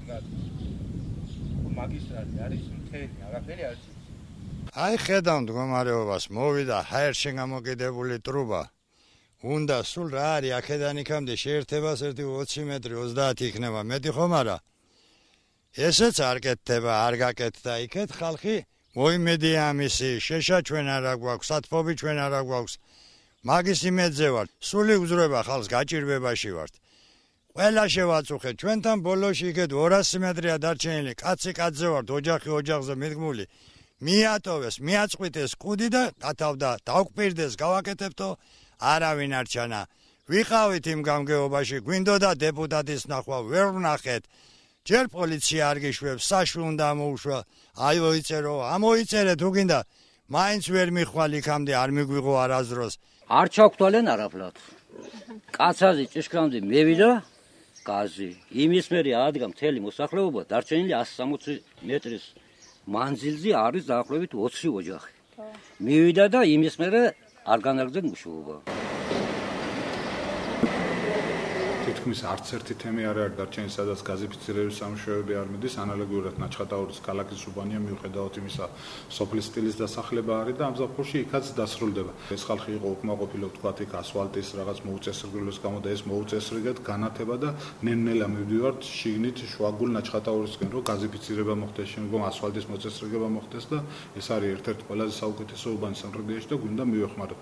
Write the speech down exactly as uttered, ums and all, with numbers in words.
რადგან მაგისტრალი არის მთელი, არაფერი არ იცის. აი ხედავ მდგომარეობას, მოვიდა ჰაერში გამოკიდებული ტრუბა. უნდა სულ რა არის აქედან იქამდე შეერთებას ერთი ოცი მეტრი ოცდაათი იქნება მეტი ხომ არა? ესეც არ კეთდება, არ გაკეთდა იქეთ ხალხი მოიმედია ამისი, შეშა ჩვენ არა გვაქვს, სათფობი ჩვენ არა გვაქვს. მაგის იმედზე ვართ, სული უძრება ხალხს გაჭირვებაში ვართ. ყველა შევაწუხეთ, ჩვენთან ბოლოში იქეთ ორასი მეტრია დარჩენილი, კაცი კაცზე ვართ, ოჯახი ოჯახზე მიდგმული. მიატოვეს, მიაწყვიტეს კუდი და გათავდა, დავკპირდეს, გავაკეთებთო, არავინ არ ჩანა. ვიყავით იმ გამგეობაში, გვინდოდა დეპუტატის ნახვა, ვერ ვნახეთ. ჯერ პოლიცია არ გიშვებს, საშვი უნდა ამოუშვა, აი მოიწერო, ამოიწერეთ უგინდა, მაინც ვერ მიხვალ იქამდე არ მიგვიღო არასდროს. არ ჩაგვთვალენ არაფლად. კაცაზი ჭიშკრამდე მევიდა გაზი. იმის მერე ადგა მთელი მოსახლეობა დარჩენილი ასი სამოცი მეტრის მანძილზე არის დაახლოებით ოცი ოჯახი. მივიდა და იმის მერე არ განაგრძეს მუშაობა. თითქმის არც ერთი თემი არ არის დარჩენილი, სადაც გაზიფიცირების სამუშაოები არ მიდის, ანალოგიურად ნაჩხატაურის ქალაქის უბანია მიუხედავად იმისა, სოფლის სტილის დასახლება არის და ამ ზაფხულში იქაც დასრულდება. ეს ხალხი იყო უკმაყოფილო, ვთქვათ, იქ ასფალტის რაღაც მოუწესრიგების გამო და ეს მოუწესრიგეთ განათება და ნელ-ნელა მივდივართ შიგნით შუაგულ ნაჩხატაურისკენ, რომ გაზიფიცირება მოხდეს, შემდგომ ასფალტის მოწესრიგება მოხდეს და ეს არის ერთ-ერთი ყველაზე საუკეთესო უბანი სამტრედიაში და გვინდა მივეხმაროთ.